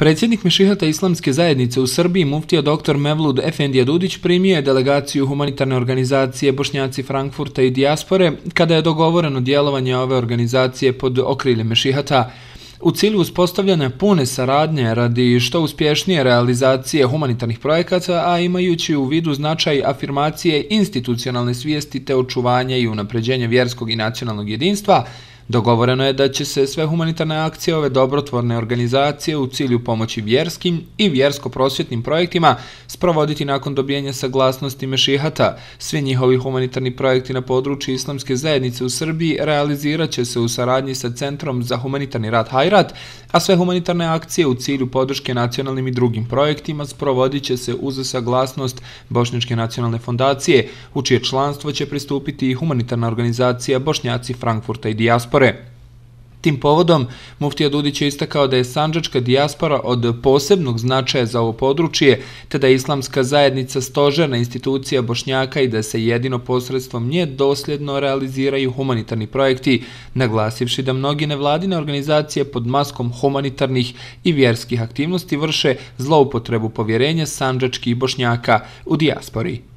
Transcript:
Predsjednik Mešihata Islamske zajednice u Srbiji, muftija dr. Mevlud Efendija Dudić, primio je delegaciju humanitarne organizacije Bošnjaci Frankfurta i dijaspore kada je dogovoreno djelovanje ove organizacije pod okriljem Mešihata u cilju uspostavljanja pune saradnje radi što uspješnije realizacije humanitarnih projekata, a imajući u vidu značaj afirmacije institucionalne svijesti te očuvanja i unapređenja vjerskog i nacionalnog jedinstva. Dogovoreno je da će se sve humanitarne akcije ove dobrotvorne organizacije u cilju pomoći vjerskim i vjersko-prosvjetnim projektima sprovoditi nakon dobijenja saglasnosti Mešihata. Svi njihovi humanitarni projekti na području Islamske zajednice u Srbiji realizirat će se u saradnji sa Centrom za humanitarni rad Hajrat, a sve humanitarne akcije u cilju podrške nacionalnim i drugim projektima sprovodit će se uz saglasnost Bošnjačke nacionalne fondacije, u čije članstvo će pristupiti i humanitarna organizacija Bošnjaci Frankfurta i dijaspore. Tim povodom, muftija Dudić je istakao da je sandžačka dijaspora od posebnog značaja za ovo područje, te da je Islamska zajednica stožerna institucija Bošnjaka i da se jedino posredstvom nje dosljedno realiziraju humanitarni projekti, naglasivši da mnogi nevladine organizacije pod maskom humanitarnih i vjerskih aktivnosti vrše zloupotrebu povjerenja sandžačkih Bošnjaka u dijaspori.